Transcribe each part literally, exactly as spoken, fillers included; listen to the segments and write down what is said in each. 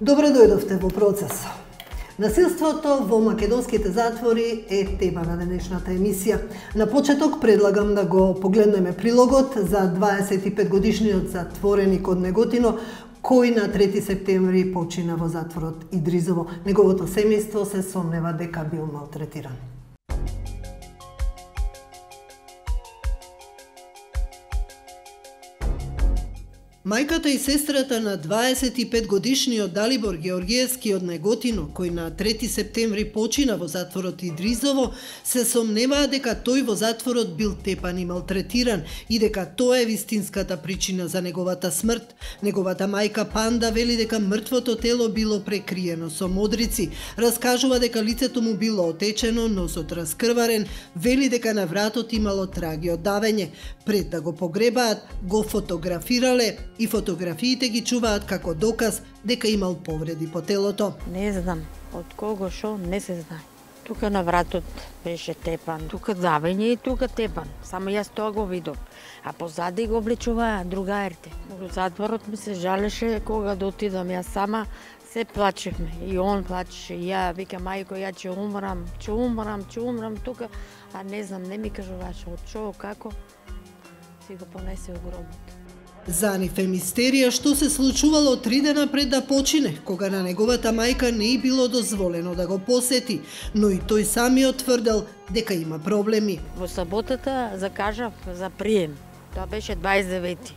Добре дојдовте во Процес. Насилството во македонските затвори е тема на денешната емисија. На почеток предлагам да го погледнеме прилогот за дваесет и пет годишниот затвореник од Неготино, кој на трети септември почина во затворот Идризово. Неговото семејство се сомнева дека бил малтретиран. Мајката и сестрата на дваесет и пет годишниот Далибор Георгиевски од Неготино, кој на трети септември почина во затворот Идризово, се сомневаа дека тој во затворот бил тепан и малтретиран и дека тоа е вистинската причина за неговата смрт. Неговата мајка Панда вели дека мртвото тело било прекриено со модрици, раскажува дека лицето му било отечено, носот раскрварен, вели дека на вратот имало траги од давење. Пред да го погребаат, го фотографирале и фотографиите ги чуваат како доказ дека имал повреди по телото. Не знам од кого шо, не се знае. Тука на вратот беше тепан, тука давење и тука тепан. Само јас тоа го видов. А позади го облечуваа другарите. Во затворот ми се жалеше кога да отидам јас сама, се плачевме. И он плачеше, и ја вика мајко, ја ќе умрам, ќе умрам, ќе умрам тука. А не знам, не ми кажуваше од шо, како. Си го понесе во гробот. За нив е мистерија што се случувало три дена пред да почине, кога на неговата мајка не и било дозволено да го посети, но и тој самиот тврдел дека има проблеми. Во саботата закажав за прием. Тоа беше дваесет и девети.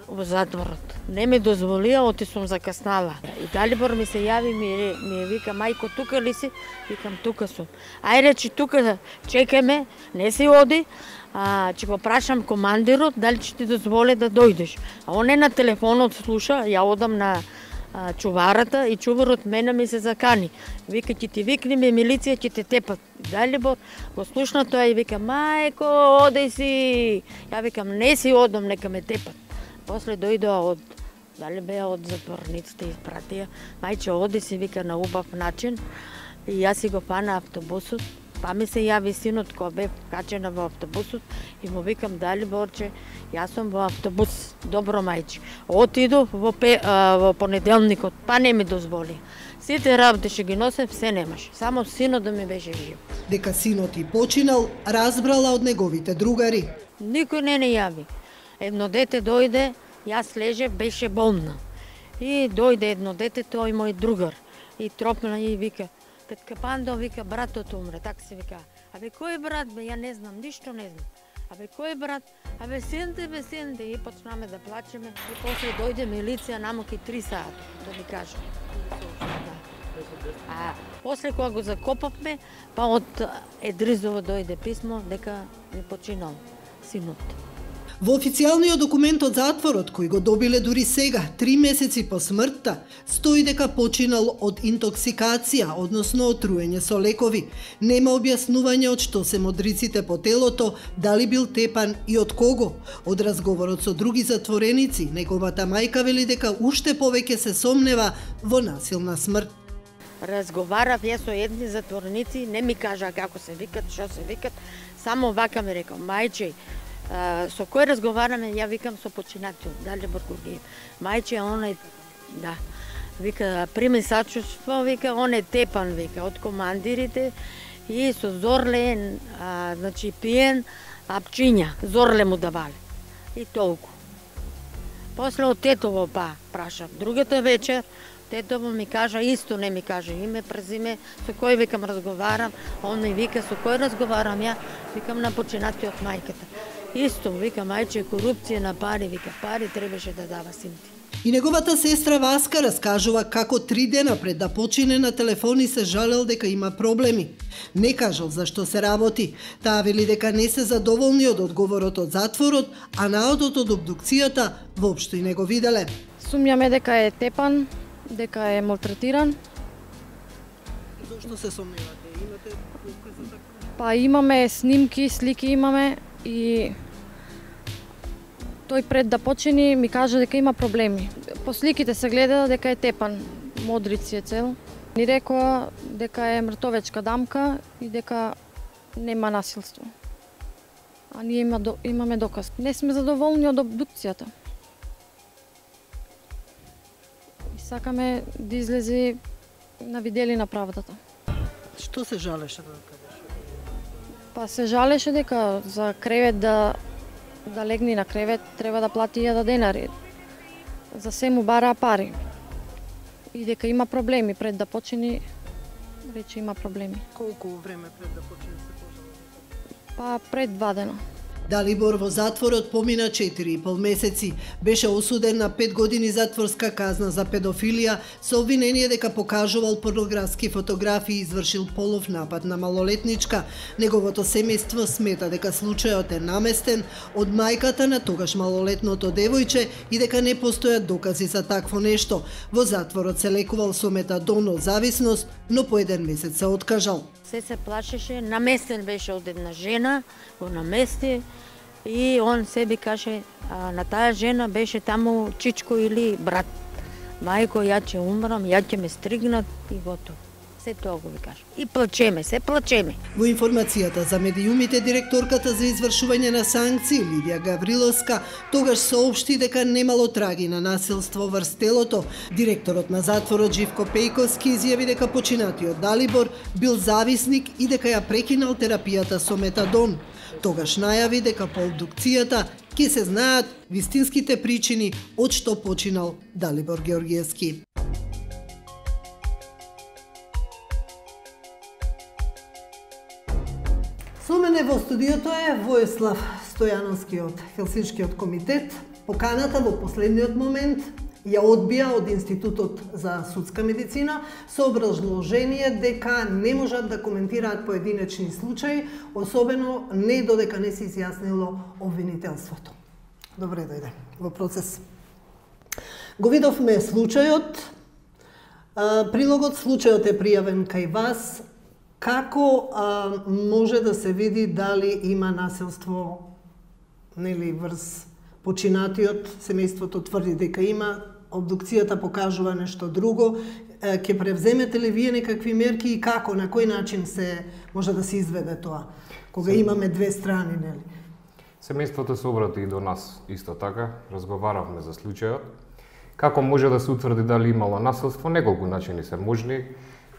Во затворот. Не ми дозволија, оти сум закаснала. И Далибор ми се јави, ми, ми вика, мајко, тука ли си? Викам, тука сум. Ајде, че тука чекаме, не си оди, а, ќе го прашам командирот, дали ќе ти дозволе да дојдеш. А он е на телефонот слуша, ја одам на а, чуварата и чуварот мене ми се закани. Вика, ќе ти викнеме милиција, ќе те тепат. Далибор го слушна тоа и вика, мајко, оди си. Ја викам, не си одам, нека ме тепат. После дојдоа од, дали беа од затворниците, испратија. Мајче, оди си, вика, на убав начин. И јас си го фана автобусот. Па ми се јави синот кој бев качена во автобусот и му викам, Далиборче, јас сум во автобус. Добро, мајче. Отиду во, пе, а, во понеделникот, па не ми дозволи. Сите работи ќе ги носев, се немаше. Само синот да ми беше жив. Дека синот и починал, разбрала од неговите другари. Никој не не јави. Едно дете дојде, јас лежев, беше болна. И дојде едно дете, тој мој другар. И тропна и вика, тетка Пандо, вика, братот умре, така се вика. Абе, кој брат, бе, ја не знам, ништо не знам. Абе, кој брат? Абе, синте, бе, синте. И почнаме да плачеме. И после дојде милиција, намоки три сати, да ви кажам. А после кога го закопавме, па од Идризово дојде писмо дека не починал синот. Во официјалниот документ од затворот, кој го добиле дури сега, три месеци по смртта, стои дека починал од интоксикација, односно отруење со лекови. Нема објаснување од што се модриците по телото, дали бил тепан и од кого. Од разговорот со други затвореници, неговата мајка вели дека уште повеќе се сомнева во насилна смрт. Разговарав јас со едни затвореници, не ми кажа како се викат, што се викат, само вака ми рекол, мајче, Uh, со кој разговараме, ја викам со починател, Далибор Георгиев. Мајче, он е, да, вика, прими сачувство, вика, он е тепан, вика, од командирите и со Зорле, а, значи, пиен, апчиња, Зорле му давале. И толку. После од тетово, па, прашав. Другата вечер, тетово ми кажа, исто не ми каже име, презиме, со кој, викам, разговарам, он ми вика, со кој разговарам ја, викам, на починател од мајката. Исто, вика, мајче, корупција на пари, вика, пари требаше да дава синти. И неговата сестра Васка раскажува како три дена пред да почине на телефони се жалел дека има проблеми. Не кажал за што се работи. Таа вели дека не се задоволни од одговорот од затворот, а наодот од обдукцијата воопшто и не го виделе. Сумњаме дека е тепан, дека е малтретиран. Зошто се сомневате? Имате докази за така? Па имаме снимки, слики имаме и тој пред да почини ми кажа дека има проблеми. По сликите се гледа дека е тепан, модрици е цел. Ни рекоа дека е мртовечка дамка и дека нема насилство. А ние има, имаме доказ. Не сме задоволни од обдукцијата. Сакаме да излезе на виделина правдата. Што се жалеше да кажеш? Па се жалеше дека за кревет да да легни на кревет треба да плати илјада денари. За се му бараа пари. И дека има проблеми пред да почини, рече има проблеми. Колку време пред да почне се пожалува? Па пред два дена. Далибор во затворот помина четири и пол месеци. Беше осуден на пет години затворска казна за педофилија со обвинение дека покажувал порнографски фотографии и извршил полов напад на малолетничка. Неговото семејство смета дека случајот е наместен од мајката на тогаш малолетното девојче и дека не постојат докази за такво нешто. Во затворот се лекувал со метадон од зависност, но по еден месец се откажал. Се се плашеше, наместен беше од една жена, го намести и он себе каже, а на таа жена беше таму чичко или брат. Мајко, ја ќе умрам, ја ќе ме стригнат и готово. Се тоа го ви кажа. И плачеме, се плачеме. Во информацијата за медиумите, директорката за извршување на санкции Лидија Гавриловска тогаш соопшти дека немало траги на насилство врз телото. Директорот на затворот Живко Пејковски изјави дека починатиот Далибор бил зависник и дека ја прекинал терапијата со метадон. Тогаш најави дека по обдукцијата ќе се знаат вистинските причини од што починал Далибор Георгиевски. Со мене во студиото е Војслав Стојановски од Хелсиншкиот комитет. Поканата во последниот момент ја одбија од Институтот за судска медицина со образложение дека не можат да коментираат поединечни случаи, особено не додека не се изјаснило обвинителството. Добре дојде во процес. Го видовме случајот, прилогот, случајот е пријавен кај вас. Како а, може да се види дали има насилство, нели, врз починатиот? Семејството тврди дека има, обдукцијата покажува нешто друго. Ќе превземете ли вие некакви мерки и како, на кој начин се може да се изведе тоа, кога Сем... имаме две страни, нели? Семејството се обрати и до нас исто така, разговаравме за случајот. Како може да се утврди дали имало насилство? Неколку начини се можни.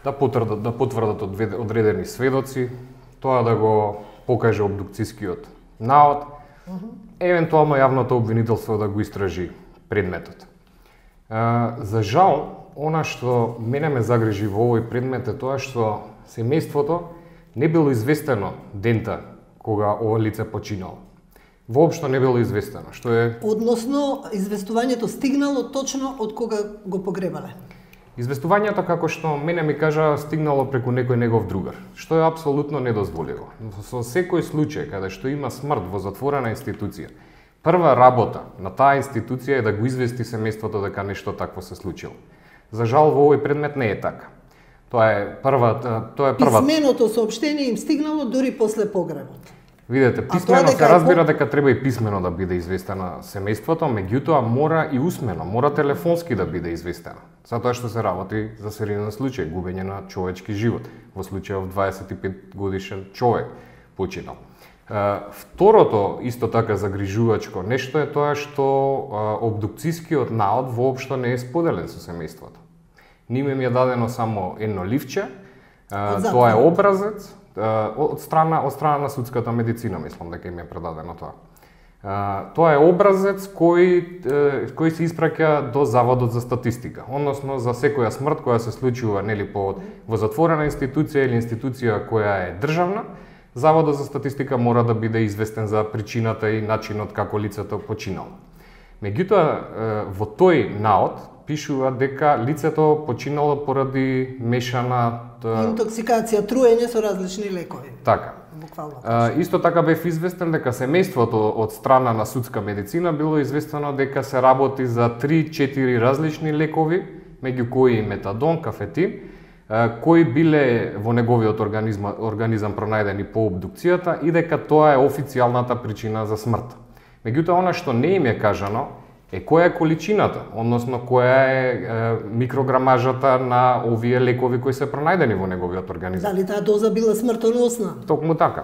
Да потврдат, да потврдат одредени сведоци, тоа да го покаже обдукцијскиот наод, uh -huh. евентуално јавното обвинителство да го истражи предметот. Uh, за жал, она што мене ме загрижи во овој предмет е тоа што семејството не било известено дента кога ова лице починало. Воопшто не било известено, што е... Односно, известувањето стигнало точно од кога го погребале? Известувањето, како што мене ми кажа, стигнало преку некој негов другар, што е апсолутно недозволиво. Со секој случај каде што има смрт во затворена институција, прва работа на таа институција е да го извести семејството дека нешто такво се случило. За жал во овој предмет не е така. Тоа е прва, тоа е прва. Писменото соопштение им стигнало дури после погребот. Видете, писмено се разбира дека треба и писмено да биде известено семејството, меѓутоа мора и усмено, мора телефонски да биде известено. Затоа што се работи за сериозен случај, губење на човечки живот, во случајов дваесет и пет годишен човек починал. Второто, исто така загрижувачко нешто е тоа што обдукцијскиот наод воопшто не е споделен со семејството. Ниме ми е дадено само едно ливче, тоа е образец, од страна од страна на судската медицина, мислам дека им е предадено тоа. Тоа е образец кој кој се испраќа до Заводот за статистика, односно за секоја смрт која се случува нели по во затворена институција или институција која е државна, Заводот за статистика мора да биде известен за причината и начинот како лицето починало. Меѓутоа во тој наод пишува дека лицето починало поради мешана интоксикација, труење со различни лекови. Така. Буквално. А, исто така бев известен дека семејството од страна на судска медицина било известено дека се работи за три-четири различни лекови, меѓу кои метадон, кафетин, кои биле во неговиот организм, организам пронајдени по обдукцијата и дека тоа е официјалната причина за смрт. Меѓутоа, она што не им е кажано е која е количината, односно која е, е микрограмажата на овие лекови кои се пронајдени во неговиот организам. Дали таа доза била смртоносна? Токму така.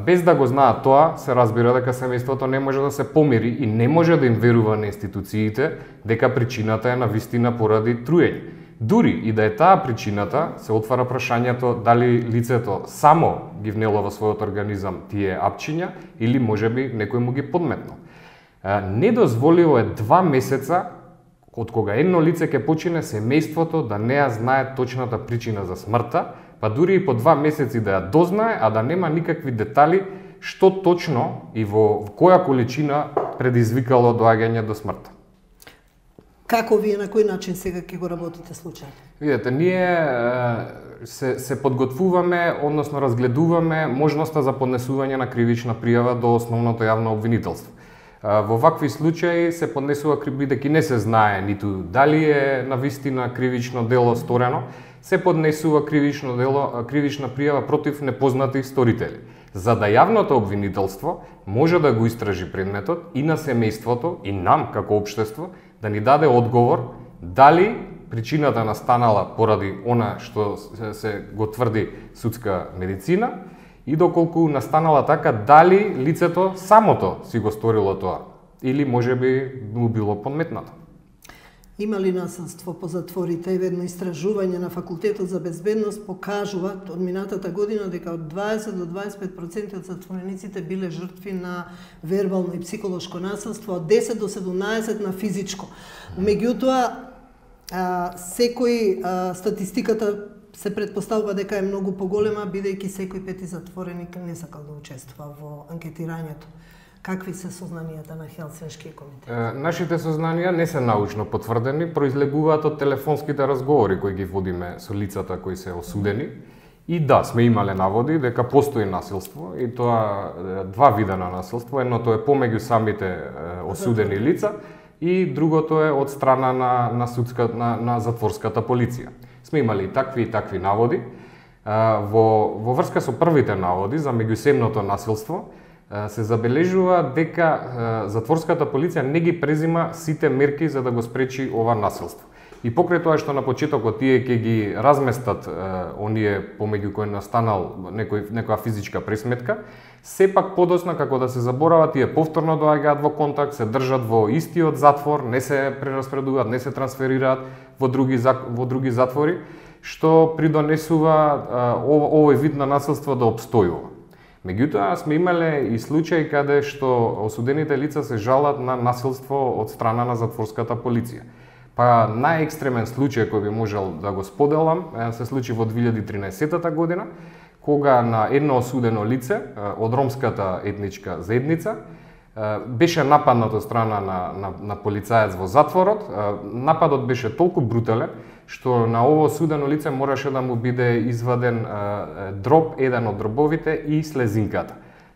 Без да го знаат тоа, се разбира дека семејството не може да се помири и не може да им верува на институциите дека причината е навистина поради труење. Дури и да е таа причината, се отвара прашањето дали лицето само ги внело во својот организам тие апчиња или можеби некој му ги подметнал. Недозволиво е два месеца од кога едно лице ќе почине семејството да не ја знае точната причина за смртта, па дури и по два месеци да ја дознае, а да нема никакви детали што точно и во која количина предизвикало доаѓање до смртта. Како вие, на кој начин сега ќе го работите случајот? Видете, ние се, се подготвуваме, односно разгледуваме можноста за поднесување на кривична пријава до основното јавно обвинителство. Во вакви случаи се поднесува, бидејќи не се знае ниту дали е навистина кривично дело сторено, се поднесува кривично дело, кривична пријава против непознати сторители, за да јавното обвинителство може да го истражи предметот и на семејството и нам како општество да ни даде одговор дали причината настанала поради она што се го тврди судска медицина и доколку настанала така дали лицето самото си го сторило тоа или можеби му било подметнато. Има ли насилство по затворите? Едно истражување на Факултетот за безбедност покажува од минатата година дека од дваесет до дваесет и пет проценти од затворениците биле жртви на вербално и психолошко насилство, од десет до седумнаесет на физичко. Меѓутоа, секој статистиката се претпоставува дека е многу поголема, бидејќи секој пети затвореник не сакал да учествува во анкетирањето. Какви се сознанијата на Хелсиншкиот комитет? Нашите сознанија не се научно потврдени, произлегуваат од телефонските разговори кои ги водиме со лицата кои се осудени. И да, сме имале наводи дека постои насилство, и тоа два вида на насилство. Едното е помеѓу самите осудени лица и другото е од страна на, на, судска, на, на затворската полиција. Сме имали и такви и такви наводи. Во, во врска со првите наводи за меѓусебното насилство, се забележува дека затворската полиција не ги презима сите мерки за да го спречи ова насилство. И покрај тоа што на почетокот тие ќе ги разместат оние помеѓу кои настанал некој, некоја физичка пресметка, сепак подоцна како да се заборава, тие повторно доаѓаат во контакт, се држат во истиот затвор, не се прераспредуваат, не се трансферираат во други, во други затвори, што придонесува овој вид на насилство да обстојува. Меѓутоа, сме имале и случаи каде што осудените лица се жалат на насилство од страна на затворската полиција. Па најекстремен случај кој би можел да го споделам се случи во две илјади и тринаесетта година, кога на едно осудено лице од ромската етничка заедница беше нападнат од страна на, на, на полицаец во затворот. Нападот беше толку брутален што на ово осудено лице мораше да му биде изваден дроб, еден од дробовите и слезинката.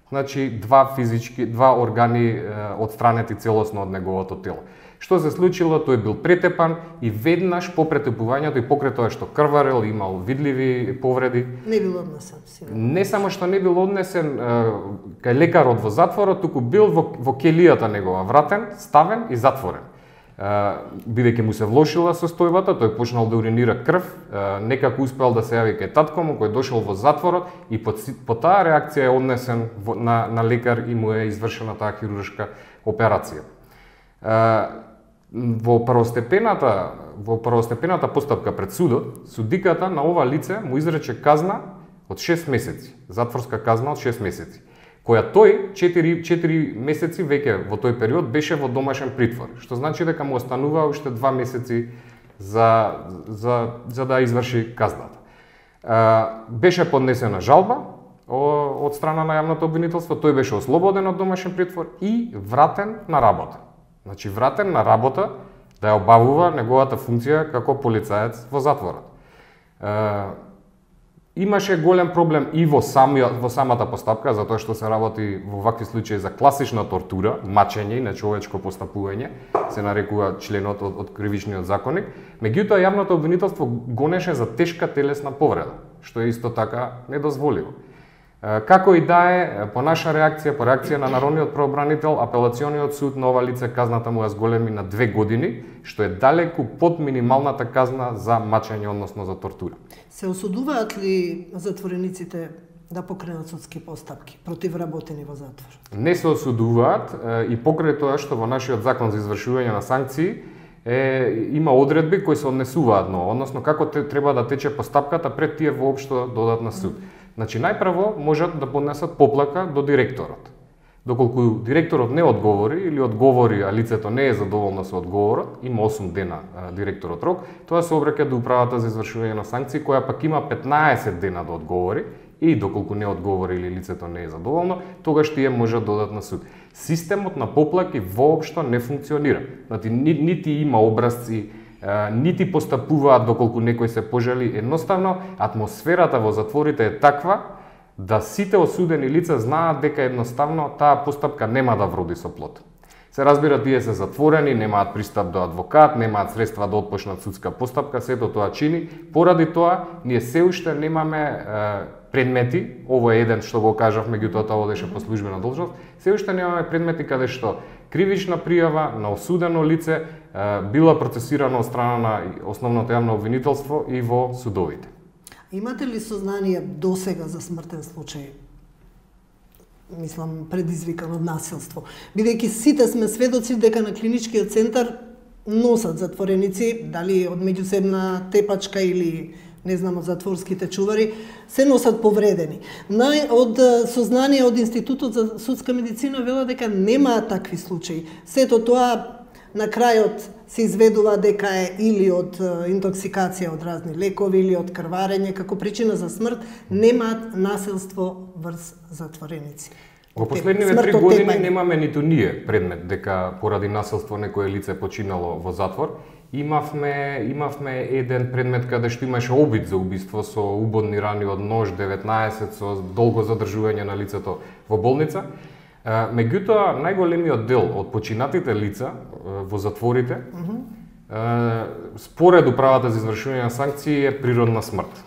Значи два физички, два органи отстранети целосно од неговото тело. Што се случило? Тој бил претепан и веднаш по претепувањето и покрај тоа што крварел, имал видливи повреди. Не бил однесен. Не само што не бил однесен кај лекарот во затворот, туку бил во, во келијата негова вратен, ставен и затворен. Бидејќи му се влошила состојбата, тој почнал да уринира крв, некако успел да се јави кај татко му, кој дошол во затворот и по, по таа реакција е однесен на, на лекар и му е извршена таа хируршка операција. Во првостепената, во првостепената постапка пред судот, судиката на ова лице му изрече казна од шест месеци, затворска казна од шест месеци, која тој четири месеци веќе во тој период беше во домашен притвор, што значи дека му останува уште два месеци за, за, за да изврши казната. Беше поднесена жалба од страна на јавното обвинителство, тој беше ослободен од домашен притвор и вратен на работа. Значи вратен на работа да ја обавува неговата функција како полицаец во затворот. Е, имаше голем проблем и во, самија, во самата постапка, затоа што се работи во вакви случаи за класична тортура, мачење и нечовечко постапување, се нарекува членот од, од кривичниот законник. Меѓутоа, јавното обвинителство гонеше за тешка телесна повреда, што е исто така недозволиво. Како и да е, по наша реакција, по реакција на народниот правобранител, апелациониот суд на ова лице казната му ја зголеми на две години, што е далеку под минималната казна за мачење, односно за тортура. Се осудуваат ли затворениците да покренат судски постапки против работени во затвор? Не се осудуваат и покрај тоа што во нашиот закон за извршување на санкции е, има одредби кои се однесуваат на, односно како те, треба да тече постапката пред тие воопшто додат на суд. Значи најпрво можат да поднесат поплака до директорот. Доколку директорот не одговори или одговори, а лицето не е задоволно со одговорот, има осум дена а, директорот рок, тоа се обраќа до управата за извршување на санкции, која пак има петнаесет дена да одговори и доколку не одговори или лицето не е задоволно, тогаш тие можат да додат на суд. Системот на поплаки воопшто не функционира. Значи нити има образци, нити постапуваат доколку некој се пожали, едноставно атмосферата во затворите е таква да сите осудени лица знаат дека едноставно таа постапка нема да вроди со плод. Се разбира, тие се затворени, немаат пристап до адвокат, немаат средства да отпочнат судска постапка, сето тоа чини. Поради тоа, ние се уште немаме е, предмети, ово е еден што го кажав, меѓутоа тоа одеше по службена должност, се уште немаме предмети каде што кривична пријава на осудено лице е, била процесирана од страна на основното јавно обвинителство и во судовите. Имате ли сознание досега за смртен случај? Мислам, предизвикан од насилство. Бидејќи сите сме сведоци дека на клиничкиот центар носат затвореници, дали од меѓусебна тепачка или не знам од затворските чувари, се носат повредени. Нај, од сознание од Институтот за судска медицина вела дека немаат такви случаи. Сето тоа на крајот се изведува дека е или од интоксикација од разни лекови или од крварење, како причина за смрт, немаат насилство врз затвореници. Во последниве три години немаме ниту ние предмет дека поради насилство некое лице починало во затвор. Имавме имавме еден предмет каде што имаше обид за убиство со убодни рани од нож, деветнаесет, со долго задржување на лицето во болница. Меѓутоа, најголемиот дел од починатите лица во затворите, mm -hmm. според управата за извршување на санкции, е природна смрт.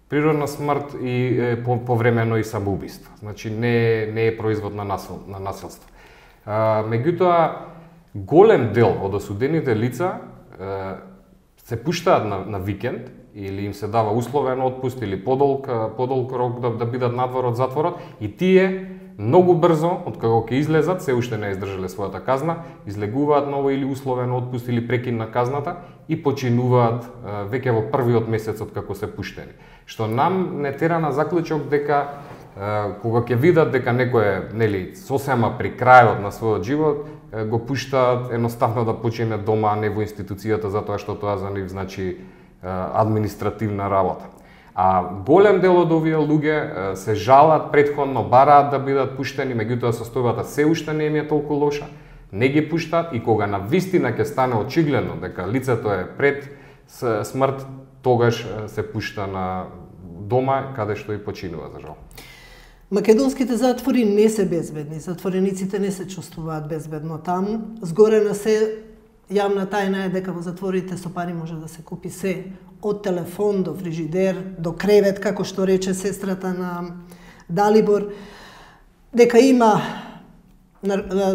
Природна смрт и е, по, повремено и самоубиство. Значи не, не е производ на, насил, на насилство. Меѓутоа, голем дел од осудените лица е, се пуштаат на, на викенд или им се дава условен отпуст или подолг, подолг рок да, да бидат надвор од затворот и тие многу брзо, од како ќе излезат, се уште не издржале својата казна, излегуваат ново или условен отпуст или прекин на казната и починуваат веќе во првиот месец од како се пуштени. Што нам не тера на заклучок дека кога ќе видат дека некој е, нели, сосема при крајот на својот живот, го пуштаат едноставно да почине дома, а не во институцијата, затоа што тоа за нив значи административна работа. А голем дел од овие луѓе се жалат претходно, бараат да бидат пуштени, меѓутоа состојбата се уште не им е толку лоша, не ги пуштаат и кога на вистина ќе стане очигледно дека лицето е пред смрт, тогаш се пушта на дома каде што и починува, за жал. Македонските затвори не се безбедни, затворениците не се чувствуваат безбедно таму. Згоре на се, јавна тајна е дека во затворите со пари може да се купи се, од телефон до фрижидер, до кревет, како што рече сестрата на Далибор, дека има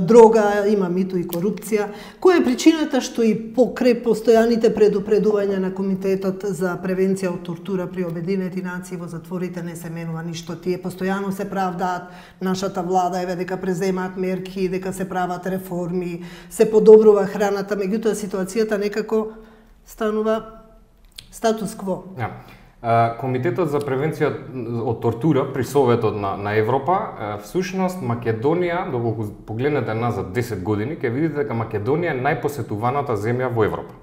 дрога, има мито и корупција. Која е причината што и покрај постојаните предупредувања на Комитетот за превенција од тортура при Обединети нации во затворите не се менува ништо? Тие постојано се правдаат, нашата влада еве дека преземаат мерки, дека се прават реформи, се подобрува храната, меѓутоа ситуацијата некако станува статус кво. Ja. Комитетот за превенција од тортура при Советот на, на Европа, всушност Македонија, доколку погледнете назад десет години, ќе видите дека Македонија е најпосетуваната земја во Европа.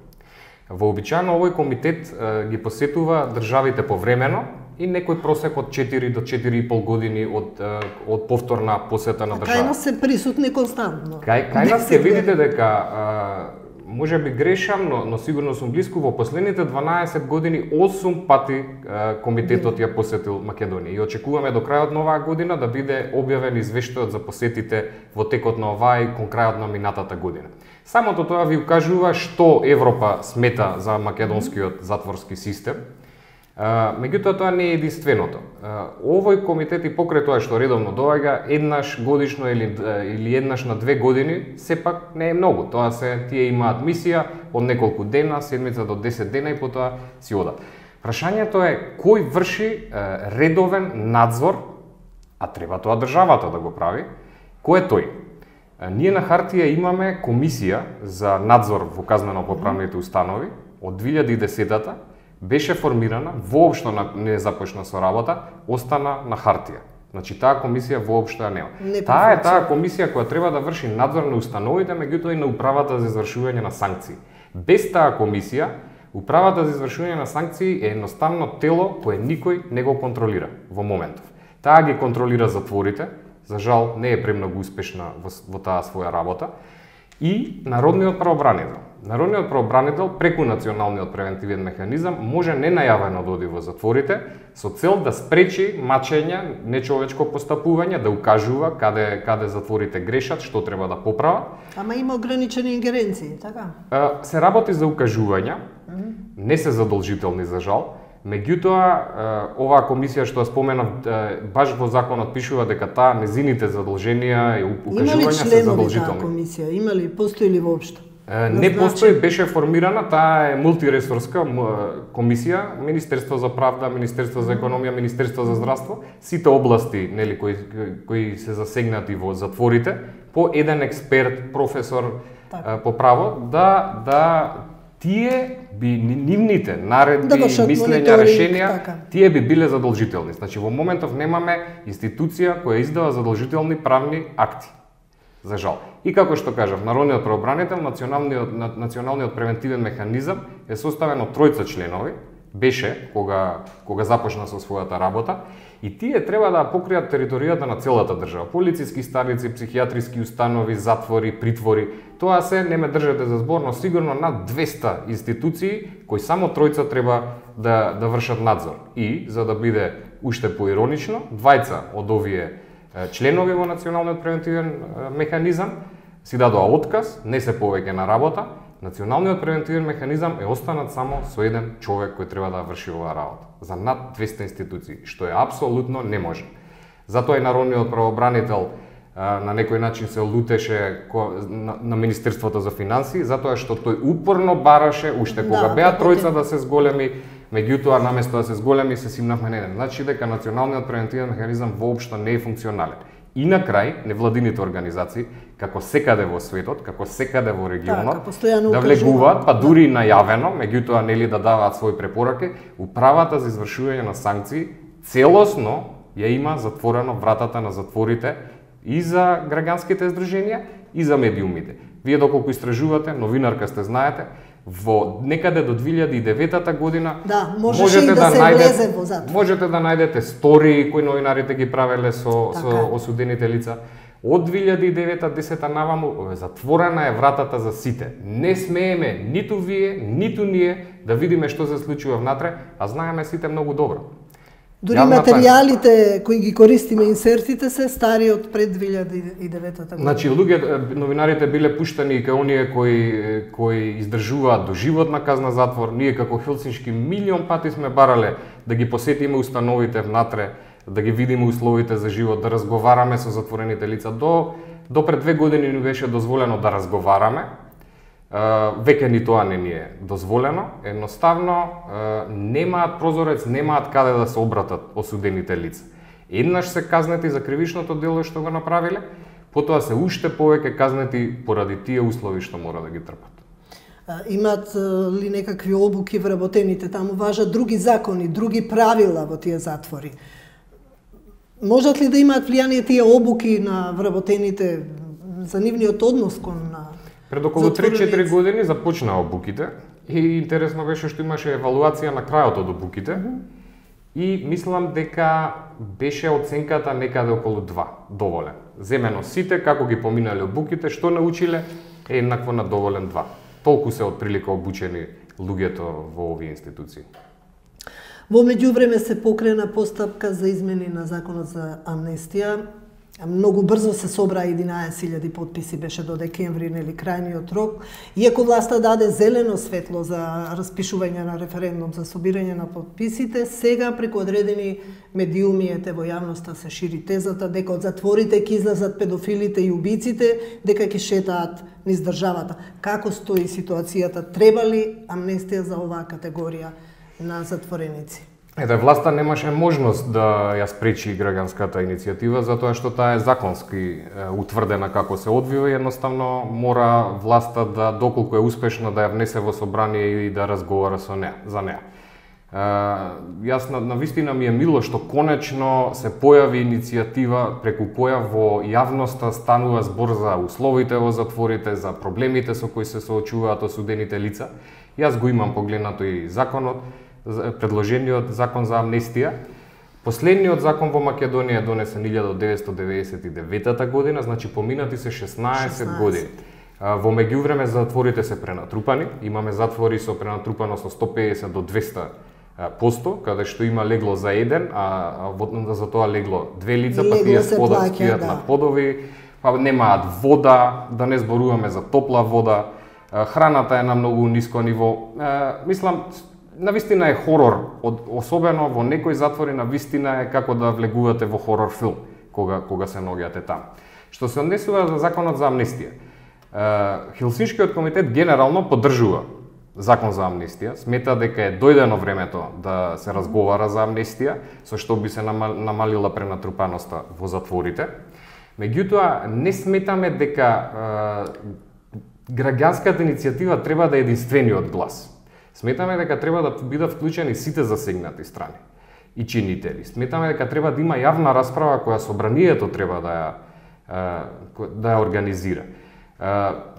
Вообичаено овој комитет ги посетува државите повремено и некој просек од четири до четири и пол години од, од повторна посета на држава. Кај нас се присутни константно. Кај, кај нас ќе видите дека може би грешам, но, но сигурно сум близко, во последните дванаесет години осум пати е, комитетот ја посетил Македонија и очекуваме до крајот на оваа година да биде објавен извештајот за посетите во текот на оваа и кон крајот на минатата година. Самото тоа ви укажува што Европа смета за македонскиот затворски систем. Меѓутоа тоа не е единственото. Овој комитет и покрај тоа што редовно доаѓа еднаш годишно или или еднаш на две години, сепак не е многу. Тоа се тие имаат мисија од неколку дена, седмица до десет дена и потоа си одат. Прашањето е кој врши е, редовен надзор, а треба тоа државата да го прави, кој е тој? Е, ние на хартија имаме комисија за надзор во казнено-поправните установи од две илјади и десетата, беше формирана, воопшто не започна со работа, остана на хартија. Значи таа комисија воопшто ја нема. Не таа е таа комисија која треба да врши надзор на установите, меѓутоа и на управата за извршување на санкции. Без таа комисија, управата за извршување на санкции е едноставно тело кое никој не го контролира во моментов. Таа ги контролира затворите, за жал не е премногу успешна во, во таа своја работа, и Народниот правобранител. Народниот правобранител преку националниот превентивен механизам може ненајавено да оди во затворите со цел да спречи мачење, нечовечко постапување, да укажува каде каде затворите грешат, што треба да поправат. Ама има ограничени ингеренции, така? Се работи за укажувања, не се задолжителни за жал. Меѓутоа, оваа комисија што ја споменав, баш во законот пишува дека таа незините задолженија и укажувања се задолжителни. Има ли членови таа комисија? Има ли, постои ли воопшто? Не постои, беше формирана, таа е мултиресорска комисија, Министерство за правда, Министерство за економија, Министерство за здравство, сите области, нели, кои кои се засегнати во затворите, по еден експерт, професор так. по право, да да тие би нивните наредби, да мислења, решенија, така. Тие би биле задолжителни. Значи во моментов немаме институција која издава задолжителни правни акти. За жал. И како што кажав, Народниот правобранител, националниот националниот превентивен механизам е составен од тројца членови, беше кога кога започна со својата работа, и тие треба да покријат територијата на целата држава. Полициски станици, психијатриски установи, затвори, притвори. Тоа се не ме држете за збор, но сигурно над двесте институции кои само тројца треба да да вршат надзор. И за да биде уште поиронично, двајца од овие членови во националниот превентивен механизам си дадоа отказ, не се повеќе на работа. Националниот превентивен механизам е останат само со еден човек кој треба да врши оваа работа за над двесте институции, што е апсолутно неможно. Затоа и Народниот правобранител на некој начин се лутеше на, на Министерството за финансии, затоа што тој упорно бараше уште кога да, беа тројца да се зголеми, меѓутоа наместо да се зголеми се симнавме на еден. Значи дека националниот превентивен механизам воопшто не е функционален. И на крај, невладините организации, како секаде во светот, како секаде во регионот, така, да влегуваат, па дури и најавено, меѓутоа нели да даваат своји препораки, управата за извршување на санкции целосно ја има затворено вратата на затворите и за граѓанските здруженија и за медиумите. Вие доколку истражувате, новинарка сте, знаете, во некаде до две илјади и девета година да, можете да, да се влезе во затвор. Можете да најдете стории кои новинарите ги правеле со, така. со осудените лица. Од две илјади и девета десета наваму затворена е вратата за сите. Не смееме ниту вие, ниту ние да видиме што се случува внатре, а знаеме сите многу добро. Дури Јавната... материјалите кои ги користиме, инсертите се стари од пред две илјади и девета година. Значи, луѓе, новинарите биле пуштани кај оние кои кои издржуваат доживотна казна затвор. Ние како Хелсиншки милион пати сме барале да ги посетиме установите внатре, да ги видиме условите за живот, да разговараме со затворените лица. До до пред две години ни беше дозволено да разговараме. Uh, веќе ни тоа не ни е дозволено, едноставно uh, немаат прозорец, немаат каде да се обратат осудените лица. Еднаш се казнети за кривичното дело што го направиле, потоа се уште повеќе казнети поради тие услови што мора да ги трпат. Uh, имаат uh, ли некакви обуки вработените? Таму важат други закони, други правила во тие затвори. Можат ли да имаат влијание тие обуки на вработените за нивниот однос кон на Пред околу три-четири години започнаа обуките и интересно беше што имаше евалуација на крајот од обуките mm -hmm. и мислам дека беше оценката некаде околу два, доволен. Земено сите како ги поминале обуките, што научиле е еднакво на доволен два. Толку се отприлика обучени луѓето во овие институции. Во меѓувреме се покрена постапка за измени на законот за амнестија. Многу брзо се собра единаесет илјади потписи, беше до декември, нели, крајниот рок. Иако власта даде зелено светло за распишување на референдум за собирање на потписите, сега преку одредени медиуми ете во јавноста се шири тезата дека од затворите ќе излезат педофилите и убиците, дека ќе шетаат низ државата. Како стои ситуацијата? Треба ли амнестија за оваа категорија на затвореници. Ете, власта немаше можност да ја спречи граѓанската иницијатива, затоа што таа е законски е, утврдена како се одвива и едноставно мора власта да, доколку е успешна, да ја внесе во собрание и да разговара со неа, за неа. Е, јас на, на вистина ми е мило што конечно се појави иницијатива преку која во јавноста станува збор за условите во затворите, за проблемите со кои се соочуваат осудените лица. Јас го имам погледнато и законот, предложениот закон за амнестија. Последниот закон во Македонија е донесен илјада деветстотини деветдесет и девета година, значи поминати се шеснаесет години. Во меѓувреме затворите се пренатрупани, имаме затвори со пренатрупаност од сто педесет до двесте посто, каде што има легло за еден, а за тоа легло две лица, па тие спојат на подови, па немаат вода, да не зборуваме за топла вода, храната е на многу ниско ниво. Мислам, навистина е хорор, особено во некои затвори навистина е како да влегувате во хорор филм кога кога се наоѓате таму. Што се однесува за законот за амнестија. Хелсиншкиот комитет генерално поддржува закон за амнестија, смета дека е дојдено времето да се разговара за амнестија, со што би се намалила пренатрупаноста во затворите. Меѓутоа, не сметаме дека граѓанската иницијатива треба да е единствениот глас. Сметаме дека треба да бидат вклучени сите засегнати страни и чинители. Сметаме дека треба да има јавна расправа која собранието треба да ја да ја организира.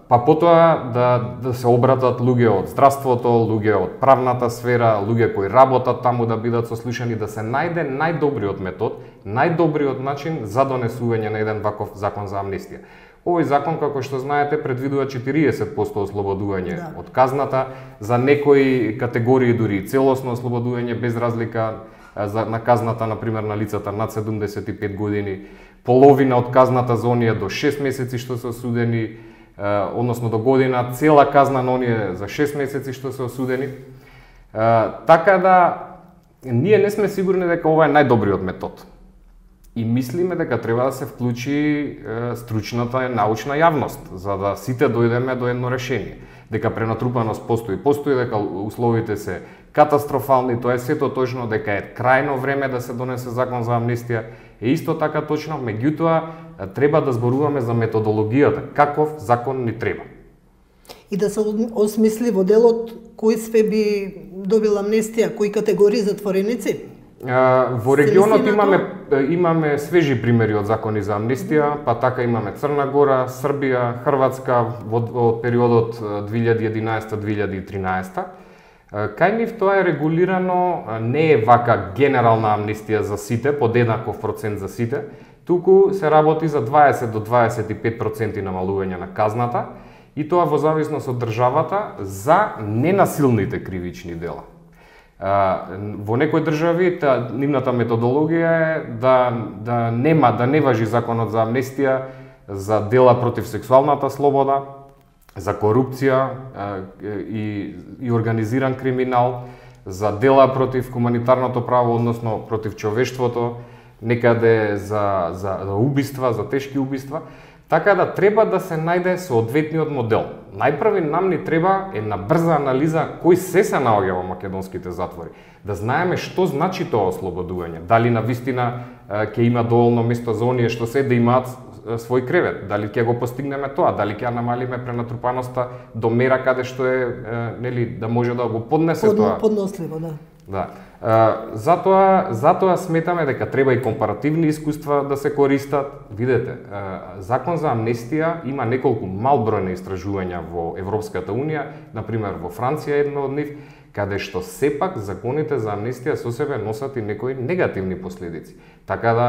Па потоа да да се обратат луѓе од здравството, луѓе од правната сфера, луѓе кои работат таму да бидат сослушани, да се најде најдобриот метод, најдобриот начин за донесување на еден ваков закон за амнестија. Овој закон, како што знаете, предвидува четириесет посто ослободување да. од казната, за некои категории дури целосно ослободување без разлика за, на казната, например, на лицата над седумдесет и пет години, половина од казната за оние до шест месеци што се осудени, односно до година, цела казна на оние за шест месеци што се осудени. Така да, ние не сме сигурни дека ова е најдобриот метод. И мислиме дека треба да се вклучи е, стручната научна јавност, за да сите дојдеме до едно решение. Дека пренатрупаност постои, постои, дека условите се катастрофални, тоа е сето точно, дека е крајно време да се донесе закон за амнестија, е исто така точно, меѓутоа треба да зборуваме за методологијата, каков закон ни треба. И да се осмисли во делот кој све би добил амнестија, кои категории затвореници? Во регионот имаме имаме свежи примери од закони за амнестија, па така имаме Црна Гора, Србија, Хрватска во, во периодот две илјади и единаесета до две илјади и тринаесета. Кај нив тоа е регулирано, не е вака генерална амнестија за сите, под еднаков процент за сите, туку се работи за дваесет до дваесет и пет проценти намалување на казната, и тоа во зависност од државата за ненасилните кривични дела. Во некои држави та нивната методологија е да да нема да не важи законот за амнестија за дела против сексуалната слобода, за корупција и и организиран криминал, за дела против хуманитарното право, односно против човештвото, некаде за за за убиства, за тешки убиства. Така да треба да се најде соодветниот модел. Најпрви нам ни треба една брза анализа кој се се наоѓа во македонските затвори. Да знаеме што значи тоа ослободување. Дали навистина ќе има доволно место за оние што се да имаат свој кревет, дали ќе го постигнеме тоа, дали ќе намалиме пренатрупаноста до мера каде што е, нели, да може да го поднесе Под, тоа. Подносливо, да. Да. Uh, затоа, затоа сметаме дека треба и компаративни искуства да се користат. Видете, uh, закон за амнестија има неколку мал број на истражувања во Европската Унија, например во Франција едно од нив, каде што сепак законите за амнестија со себе носат и некои негативни последици. Така да,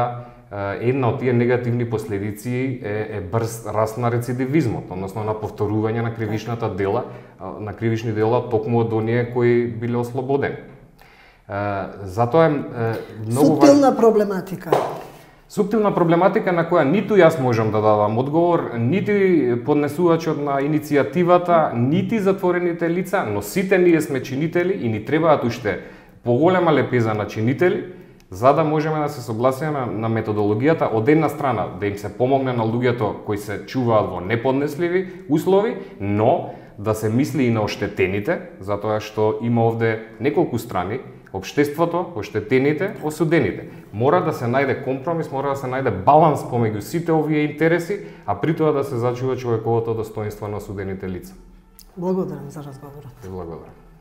uh, една од тие негативни последици е, е брз раст на рецидивизмот, односно на повторување на кривичната дела, uh, на кривични дела токму од оние кои биле ослободени. Uh, затоа е uh, многу Суптилна важ... проблематика. Суптилна проблематика на која ниту јас можам да дадам одговор, нити поднесувачот на иницијативата, нити затворените лица, но сите ние сме чинители и ни требаат уште поголема лепеза на чинители, за да можеме да се согласиме на методологијата од една страна да им се помогне на луѓето кои се чуваат во неподнесливи услови, но да се мисли и на оштетените, затоа што има овде неколку страни, општеството, оштетените, осудените. Мора да се најде компромис, мора да се најде баланс помеѓу сите овие интереси, а при тоа да се зачува човековото достоинство на осудените лица. Благодарам за разговорот. Благодарам.